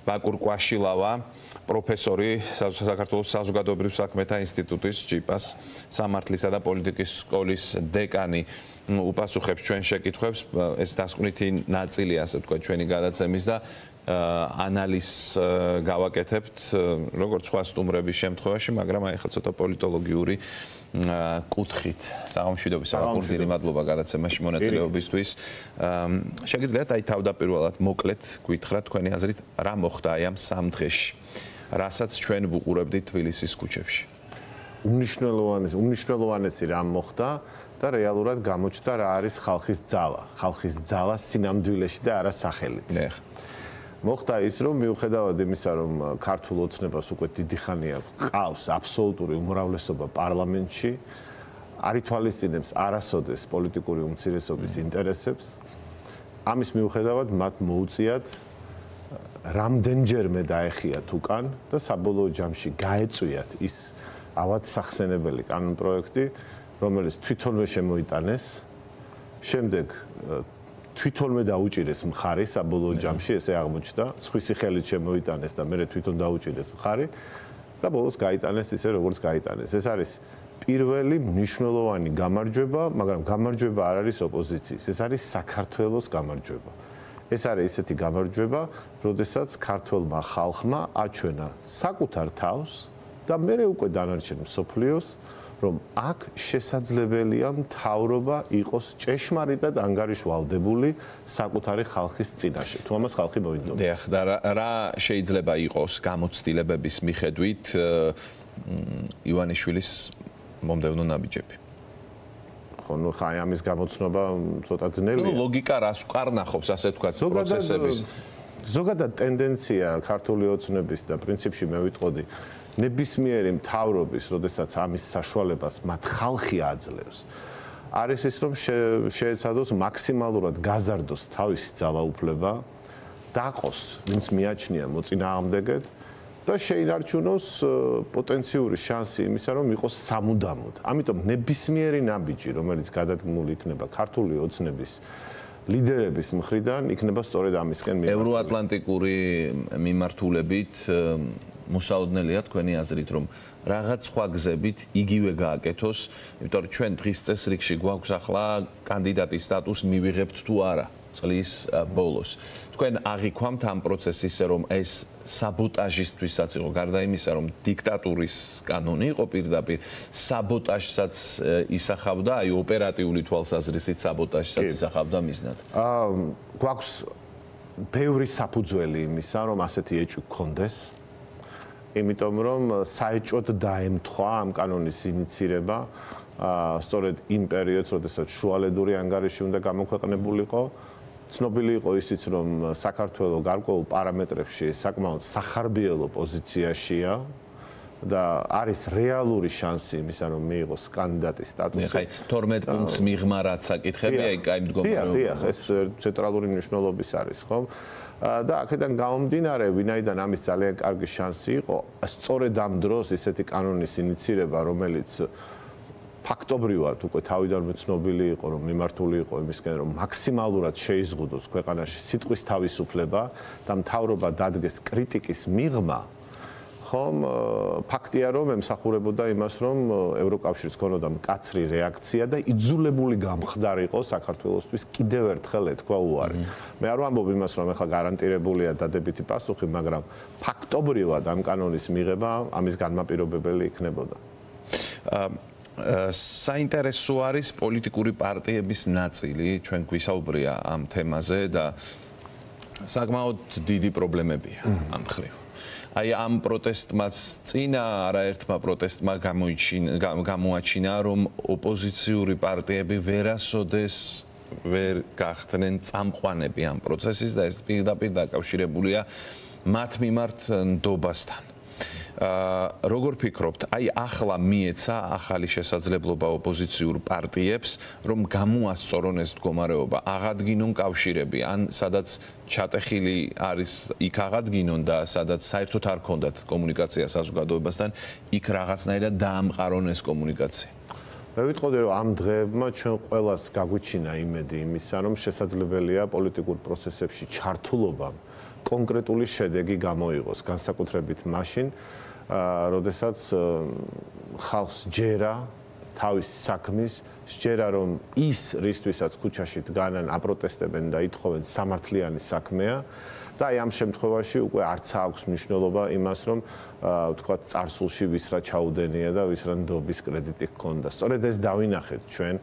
ბაკურ კვაშილავა, პროფესორი საქართველოს საზოგადოებრივ საქმეთა ინსტიტუტის ჯიპას სამართლისა და პოლიტიკის სკოლის დეკანი უპასუხებს ჩვენ შეკითხვებს. ეს დასკვნითი ნაწილი, ასე ვთქვათ, ჩვენი გადაცემის და ანალიზს გავაკეთებთ როგორც სხვა სტუმრების შემთხვევაში, მაგრამ აი ხა ცოტა პოლიტოლოგიური კუთხით. საღამოშვიდობის საგულდირი მადლობა გადაცემაში მონაწილეობისთვის. შეგიძლიათ აი თავდაპირველად მოკლედ გითხრათ თქვენი აზრით რა მოხდა აი ამ 3 დღეში, რასაც ჩვენ ვუყურებდით თბილისის ქუჩებში. უმნიშვნელოვანესი რა მოხდა და რეალურად გამოჩნდა რა არის ხალხის ძალა. ხალხის ძალა სინამდვილეში და არა სახელით. მოხდა ის, რომ მიუხედავად იმისა, რომ ქართულ ოცნებას უკვე დიდი ხანია ყავს აბსოლუტური უმრავლესობა პარლამენტში, არ ითვალისწინებს არასოდეს პოლიტიკური უმცირესობის ინტერესებს. ამის მიუხედავად მათ მოუწიათ რამდენჯერმე დაეხიათ უკან და საბოლოო ჯამში გაეწვიათ ის ავად სახსენებელი კანონპროექტი, რომელიც თვითონვე შემოიტანეს, შემდეგ თვითონვე დაუჭირეს მხარი საბოლოო ჯამში, ესე აღმოჩნდა, სხვისი ხელით შემოიტანეს და მერე თვითონ დაუჭირეს მხარი და ბოლოს გაიტანეს ისე, როგორც გაიტანეს. ეს არის პირველი მნიშვნელოვანი გამარჯვება, მაგრამ გამარჯვება არ არის ოპოზიციის, ეს არის საქართველოს გამარჯვება. ეს არის ისეთი გამარჯვება, როდესაც ქართველმა ხალხმა აჩვენა საკუთარ თავს და მერე უკვე დანარჩენ მსოფლიოს, რომ აქ შესაძლებელია მთავრობა იყოს ჭეშმარიტად ანგარიშვალდებული საკუთარი ხალხის წინაშე. თუ ამას ხალხი მოინდომებს. დიახ, და რა შეიძლება იყოს გამოცდილებების მიხედვით ივანიშვილის მომდევნო ნაბიჯები? ხო, ნუ ხაი ამის გამოცნობა ცოტა ძნელია. ლოგიკა რას ვკარნახობს, ასე ვთქვათ, პროცესების? ზოგადად ტენდენცია ქართული ოცნების და პრინციპში მე ვიტყოდი ნებისმიერი მთავრობის, როდესაც ამის საშუალებას მათ ხალხი აძლევს, არის ის, რომ შეეცადოს მაქსიმალურად გაზარდოს თავისი ძალაუფლება, დაყოს, ვინც მიაჩნია მოწინააღმდეგედ და შეინარჩუნოს პოტენციური შანსი იმისა, რომ იყოს სამუდამოდ. ამიტომ ნებისმიერი ნაბიჯი, რომელიც გადადგმული იქნება ქართული ოცნების ლიდერების მხრიდან, იქნება სწორედ ამისკენ მიმართული. ევროატლანტიკური მიმართულებით მოსაოდნელია თქვენი აზრით, რომ რაღაც სხვა გზებით იგივე გააკეთოს, იმიტომ რომ ჩვენ დღის წესრიგში გვაქვს ახლა კანდიდატის სტატუსს მივიღებთ თუ არა წლის ბოლოს. თქვენ აღიქვამთ ამ პროცესს ისე, რომ ეს საბოტაჟისთვისაც იყო, გარდა იმისა, რომ დიქტატურის კანონი იყო პირდაპირ, საბოტაჟსაც ისახავდა, აი ოპერატიული თვალსაზრისით საბოტაჟსაც ისახავდა მიზნად. გვაქვს ბევრი საფუძველი იმისა, რომ ასეთი ეჭვი გქონდეს. იმიტომ რომ საეჭვოდ დაემთხვა ამ კანონის ინიცირება სწორედ იმ პერიოდს, როდესაც შუალედური ანგარიში უნდა გამოქვეყნებულიყო. ცნობილი იყო ისიც, რომ საქართველოს გარკვეულ პარამეტრებში საკმაოდ სახარბიელო პოზიციაშია და არის რეალური შანსი იმისა, რომ მიიღოს კანდიდატის სტატუსი. ხაი 12 პუნქტს მიღმა რაც საკითხებია, აი მდგომარეობა. დიახ, ეს ცენტრალური მნიშვნელობის არის, ხო? და აქედან გამომდინარე, ვინაიდან ამის ძალიან კარგი შანსი იყო, სწორედ ამ დროს ისეთი კანონის ინიცირება, რომელიც ფაქტობრივად უკვე თავიდანვე ცნობილი იყო, რომ მიმართული იყო იმისკენ, რომ მაქსიმალურად შეიზღუდოს ქვეყანაში სიტყვის თავისუფლება და მთავრობა დადგეს კრიტიკის მიღმა, ხომ ფაქტია, რომ ემსახურებოდა იმას, რომ ევროკავშირს ქონოდა მკაცრი რეაქცია და იძულებული გამხდარიყო საქართველოსთვის კიდევ ერთხელ ეთქვა უარი. მე არ ვამბობ იმას, რომ ეხლა გარანტირებულია დადებითი პასუხი, მაგრამ ფაქტობრივად ამ კანონის მიღება ამის განმაპირობებელი იქნებოდა. საინტერესო არის პოლიტიკური პარტიების ნაწილი, ჩვენ გვისაუბრია ამ თემაზე და საკმაოდ დიდი პრობლემებია ამ მხრივ. აი ამ პროტესტმაც წინა არაერთმა პროტესტმა გამოაჩინა, რომ ოპოზიციური პარტიები ვერასოდეს ვერ გახდნენ წამყვანები ამ პროცესის და ეს პირდაპირ დაკავშირებულია მათ მიმართ ნდობასთან. როგორ ფიქრობთ, აი ახლა მიეცა ახალი შესაძლებლობა ოპოზიციურ პარტიებს, რომ გამოასწორონ ეს მდგომარეობა, აღადგინონ კავშირები, ან სადაც ჩატეხილი არის, იქ აღადგინონ და სადაც საერთოდ არ ქონდათ კომუნიკაცია საზოგადოებასთან, იქ რაღაცნაირად დაამყარონ ეს კომუნიკაცია. მე ვიტყოდი, რომ ამ დღეებმა ჩვენ ყველას გაგვიჩინა იმედი იმისა, რომ შესაძლებელია პოლიტიკურ პროცესებში ჩართულობამ კონკრეტული შედეგი გამოიღოს, განსაკუთრებით მაშინ, როდესაც ხალხს ჯერა თავის საქმის, სჯერა რომ ის რისთვისაც ქუჩაში დგანან, აპროტესტებენ და ითხოვენ სამართლიანი საქმეა და აი ამ შემთხვევაში უკვე არც აქვს მნიშვნელობა იმას, რომ ვთქვათ, წარსულში ვის რა ჩაუდენია და ვის რა ნდობის კრედიტი ჰქონდა. სწორედ ეს დავინახეთ ჩვენ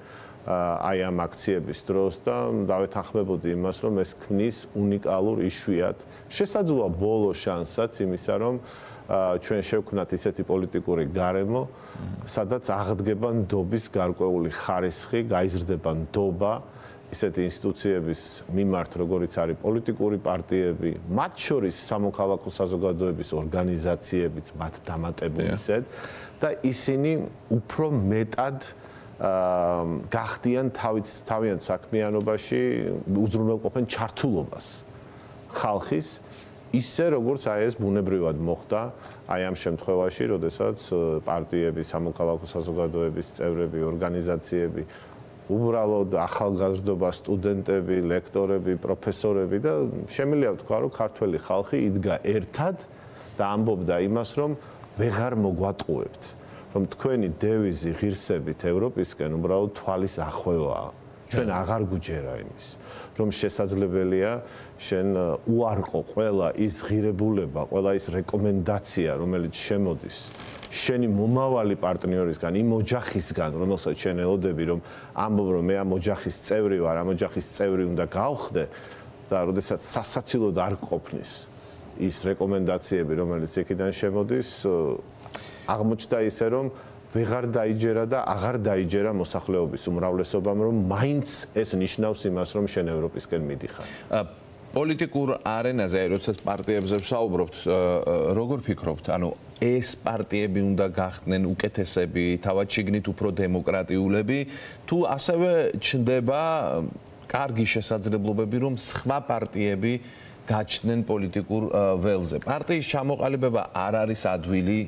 აი ამ აქციების დროს და დავეთანხმებოდი იმას, რომ ეს ქმნის უნიკალურ იშვიათ შესაძლოა ბოლო შანსსაც იმისა, რომ ჩვენ შევქმნათ ისეთი პოლიტიკური გარემო, სადაც აღდგება ნდობის გარკვეული ხარისხი, გაიზრდება ნდობა ისეთი ინსტიტუციების მიმართ, როგორიც არის პოლიტიკური პარტიები, მათ შორის სამოქალაქო საზოგადოების ორგანიზაციებიც, მათ დამატებულისად და ისინი უფრო მეტად გახდიან თავიანთ საქმიანობაში, უზრუნველყოფენ ჩართულობას ხალხის ისე როგორც აი ეს ბუნებრივად მოხდა აი ამ შემთხვევაში, როდესაც პარტიები, სამოქალაქო საზოგადოების წევრები, ორგანიზაციები, უბრალოდ ახალგაზრდობა, სტუდენტები, ლექტორები, პროფესორები და შემიძლია ვთქვა, რომ ქართველი ხალხი იდგა ერთად და ამბობდა იმას, რომ ვეღარ მოგვატყუებთ, რომ თქვენი დევიზი ღირსებით ევროპისკენ უბრალოდ თვალის ახვევაა. ჩვენ აღარ გვჯერა იმის, რომ შესაძლებელია შენ უარყო ყველა ის ღირებულება, ყველა ის რეკომენდაცია, რომელიც შემოდის შენი მომავალი პარტნიორისგან, იმ ოჯახისგან, რომელსაც შენ ელოდები, რომ ამბობ, რომ მე ამ ოჯახის წევრი ვარ, ამ ოჯახის წევრი უნდა გავხდე და როდესაც სასაცილოდ არ ყოფნის ის რეკომენდაციები, რომელიც იქიდან შემოდის, აღმოჩნდა ისე, რომ ვეღარ დაიჯერა და აღარ დაიჯერა მოსახლეობის უმრავლესობამ, რომ მაინც ეს ნიშნავს იმას, რომ შენ ევროპისკენ მიდიხარ. პოლიტიკურ არენაზე, როდესაც პარტიებზე ვსაუბრობთ, როგორ ფიქრობთ, ანუ ეს პარტიები უნდა გახდნენ უკეთესები, თავად შიგნით უფრო დემოკრატიულები, თუ ასევე ჩნდება კარგი შესაძლებლობები, რომ სხვა პარტიები გაჩნდნენ პოლიტიკურ ველზე. პარტიის ჩამოყალიბება არ არის ადვილი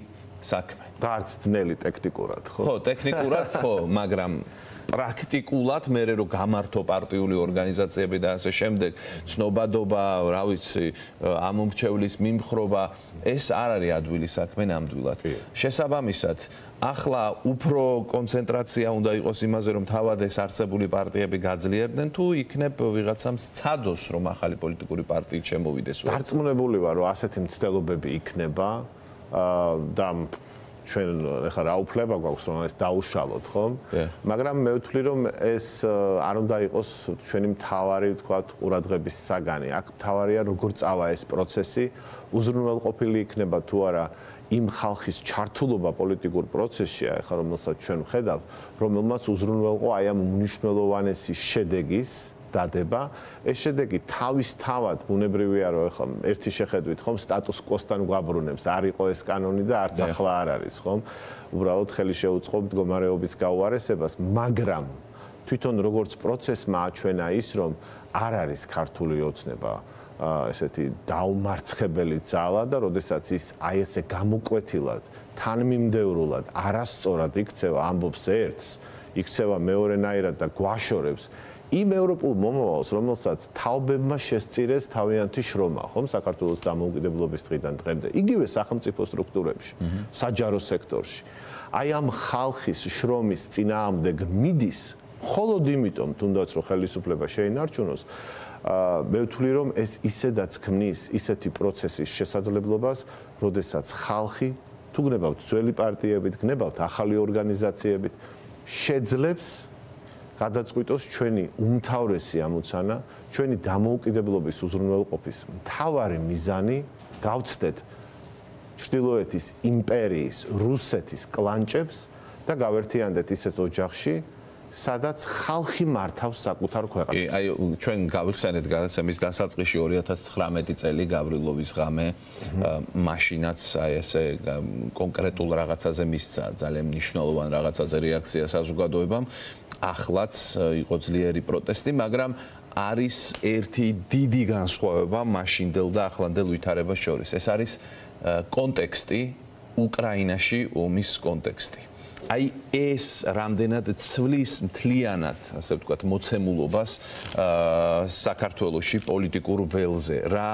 საქმე. და არც ძნელი ტექნიკურად, ხო? ხო, ტექნიკურად ხო, მაგრამ პრაქტიკულად მე რო გამართო პარტიული ორგანიზაციები და ასე შემდეგ, ცნობადობა, რა ვიცი, ამომრჩევლის მიმხრობა, ეს არ არის ადვილი საქმე ნამდვილად. შესაბამისად, ახლა უფრო კონცენტრაცია უნდა იყოს იმაზე, რომ თავად ეს არსებული პარტიები გაძლიერდნენ, თუ იქნებ ვიღაცამ სცადოს, რომ ახალი პოლიტიკური პარტიით შემოვიდეს. დარწმუნებული ვარ, რომ ასეთი მცდელობები იქნება და ჩვენ ახლა რა უფლება გვაქვს რომ ეს დაუშალოთ, ხო? მაგრამ მე ვთვლი რომ ეს არ უნდა იყოს ჩვენი მთავარი, ვთქვათ, ყურადღების საგანი. აქ მთავარია როგორ წავა ეს პროცესი, უზრუნველყოფილი იქნება თუ არა იმ ხალხის ჩართულობა პოლიტიკურ პროცესში, ახლა რომელსაც ჩვენ ვხედავთ, რომელმაც უზრუნველყო აი ამ მნიშვნელოვანესი შედეგის დადება, ეს შედეგი თავისთავად ბუნებრივია, რომ ახლა ერთი შეხედვით ხომ სტატუს კვოსთან გვაბრუნებს, არ იყო ეს კანონი და არც ახლა არ არის, ხომ? უბრალოდ ხელი შეუწყო მდგომარეობის გაუარესებას, მაგრამ თვითონ როგორც პროცესმა აჩვენა ის, რომ არ არის ქართული ოცნება ესეთი დაუმარცხებელი ძალა და როდესაც ის აი ესე გამოკვეთილად, თანმიმდევრულად, არასწორად იქცევა, ამბობს ერთს, იქცევა მეორენაირად და გვაშორებს იმ ევროპულ მომავალს, რომელსაც თაობებმა შესწირეს თავიანთი შრომა, ხომ, საქართველოს დამოუკიდებლობის დღიდან დღემდე, იგივე სახელმწიფო სტრუქტურებში, საჯარო სექტორში. აი ამ ხალხის შრომის წინააღმდეგ მიდის, მხოლოდ იმიტომ, თუნდაც რომ ხელისუფლება შეინარჩუნოს, მე ვთვლი, რომ ეს ისედაც ქმნის ისეთი პროცესის შესაძლებლობას, როდესაც ხალხი, თუ გნებავთ ძველი პარტიებით, გნებავთ ახალი ორგანიზაციებით, შეძლებს გადაწყვიტოს ჩვენი უმთავრესი ამოცანა, ჩვენი დამოუკიდებლობის უზრუნველყოფის მთავარი მიზანი გავცდეთ ჩრდილოეთის იმპერიის, რუსეთის კლანჭებს და გავერთიანდეთ ისეთ ოჯახში, სადაც ხალხი მართავს საკუთარ ქვეყანას. აი, ჩვენ გავიხსენეთ გადაცემის დასაწყისში 2019 წელი გავრილოვის ღამე, მაშინაც აი ესე კონკრეტულ რაღაცაზე მისცა, ძალიან მნიშვნელოვან რაღაცაზე რეაქცია საზოგადოებამ. ახლაც იყო ძლიერი პროტესტი, მაგრამ არის ერთი დიდი განსხვავება მაშინდელ და ახლანდელ ვითარებას შორის. ეს არის კონტექსტი, უკრაინაში ომის კონტექსტი. აი ეს რამდენად ცვლის მთლიანად, ასე ვთქვათ, მოცემულობას საქართველოში პოლიტიკურ ველზე. რა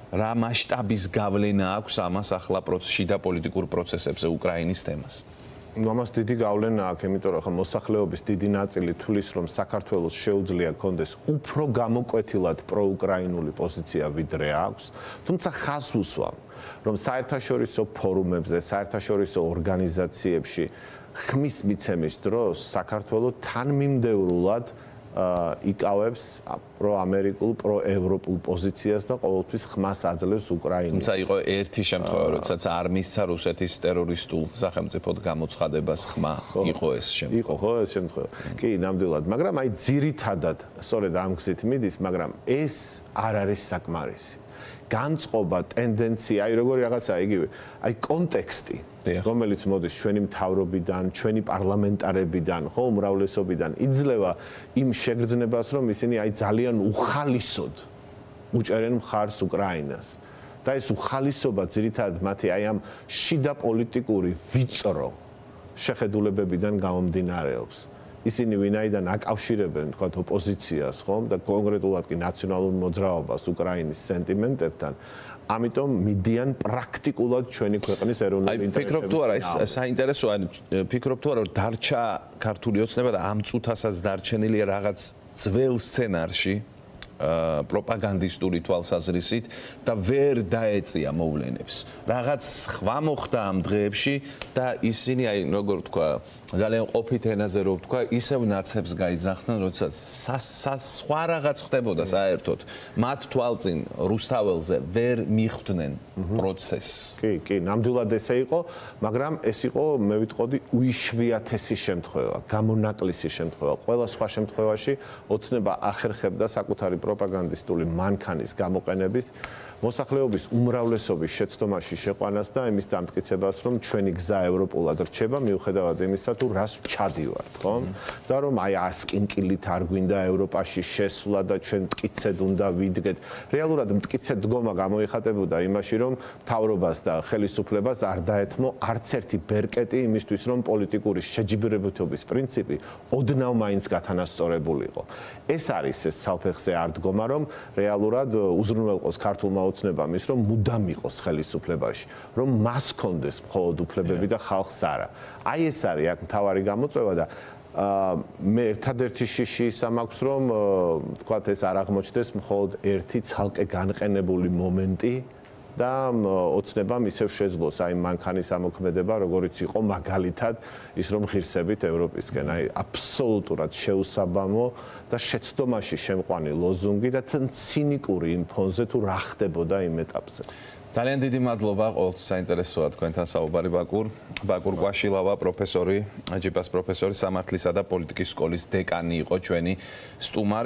რა მასშტაბის გავლენა აქვს ამას ახლა შიდა პოლიტიკურ პროცესებზე უკრაინის თემას? ამას დიდი გავლენა აქვს, იმიტომ რომ მოსახლეობის დიდი ნაწილი თulis რომ საქართველოს შეუძლია კონდეს უფრო გამოკვეთილად პროუკრაინული პოზიცია ვიდრე აქვს, თუმცა ხაზს უსვამ, რომ საერთაშორისო ფორუმებზე, საერთაშორისო ორგანიზაციებში ხმის მიცემის დროს საქართველო თანმიმდევრულად იკავებს პროამერიკულ, პროევროპულ პოზიციას და ყოველთვის ხმას აძლევს უკრაინას. თუმცა იყო ერთი შემთხვევა, როდესაც არ მისცა რუსეთის ტერორისტულ სახელმწიფოდ გამოცხადებას ხმა, იყო ეს შემთხვევა. იყო ხო ეს შემთხვევა. კი, ნამდვილად, მაგრამ აი ძირითადად სწორედ ამ გზით მიდის, მაგრამ ეს არ არის საკმარისი. განწყობა, ტენდენცია, აი როგორი რაღაცა იგივე, აი კონტექსტი, რომელიც მოდის ჩვენი მთავრობიდან, ჩვენი პარლამენტარებიდან, ხო, უმრავლესობიდან, იძლევა იმ შეგრძნებას, რომ ისინი აი ძალიან უხალისოდ უჭერენ მხარს უკრაინას. და ეს უხალისობა ძირითადად მათი აი ამ შიდა პოლიტიკური ვიწრო შეხედულებებიდან გამომდინარეობს. ისინი ვინაიდან აკავშირებენ, თქვათ, ოპოზიციას, ხომ, და კონკრეტულად კი ნაციონალურ მოძრაობას უკრაინის სენტიმენტებთან, ამიტომ მიდიან პრაქტიკულად ჩვენი ქვეყნის ეროვნული ინტერესების. ფიქრობ თუ არა, ეს საინტერესოა, ფიქრობ თუ არა, რომ დარჩა ქართული ოცნება და ამ წუთასაც დარჩენილია რაღაც ძველ სცენარში პროპაგანდისტური თვალსაზრისით და ვერ დაეწია მოვლენებს. რაღაც სხვა მოხდა ამ დღეებში და ისინი, აი, როგორ თქვა, ძალიან ყოფით ენაზე რო ვთქვა, ისევ ნაცებს გაიძახდნენ, როდესაც სხვა რაღაც ხდებოდა საერთოდ. მათ თვალწინ რუსთაველზე ვერ მიხვდნენ პროცესს. კი, ნამდვილად ესე იყო, მაგრამ ეს იყო, მე ვიტყოდი, უიშვიათესი შემთხვევა, გამონაკლისი შემთხვევა. ყველა სხვა შემთხვევაში ოცნება ახერხებდა საკუთარი პროპაგანდისტული მანქანის გამოყენების მოსახლეობის უმრავლესობის შეცდომაში შეყვანას და იმის დამტკიცებას, რომ ჩვენი გზა ევროპულად რჩება, მიუხედავად იმისა, თუ რას ჩადივართ, ხო? და რომ აი ასკინკილით არ გვინდა ევროპაში შესვლა და ჩვენ მტკიცედ უნდა ვიდგეთ. რეალურად მტკიცედ დგომა გამოიხატებოდა იმაში, რომ მთავრობას და ხელისუფლებას არ დაეთმო არც ერთი ბერკეტი იმისთვის, რომ პოლიტიკური შეჯიბრებითობის პრინციპი ოდნავ მაინც გათანასწორებულიყო. ეს არის ეს საფეხზე არ დგომა, რომ რეალურად უზრუნველყოს ქართულმა ოცნებამ ის, რომ მუდამ იყოს ხელისუფლებაში, რომ მას კონდეს მხოლოდ უფლებები და ხალხს არა. აი ეს არის აქ მთავარი გამოწვევა და მე ერთადერთი შიში ის მაქვს, რომ თქვათ ეს არ აღმოჩნდეს მხოლოდ ერთი ცალკე განყენებული მომენტი და ოცნებამ ისევ შეძლოს აი მანქანის ამოქმედება, როგორიც იყო მაგალითად ის, რომ ღირსებით ევროპისკენ, აი აბსოლუტურად შეუსაბამო და შეცდომაში შემყვანი ლოზუნგი და ცინიკური იმ ფონზე თუ რა ხდებოდა იმ ეტაპზე. ძალიან დიდი მადლობა, ყოველთვის საინტერესოა თქვენთან საუბარი ბაკურ კვაშილავა, პროფესორი, ჯიპას პროფესორი, სამართლისა და პოლიტიკის სკოლის დეკანი იყო ჩვენი სტუმარი.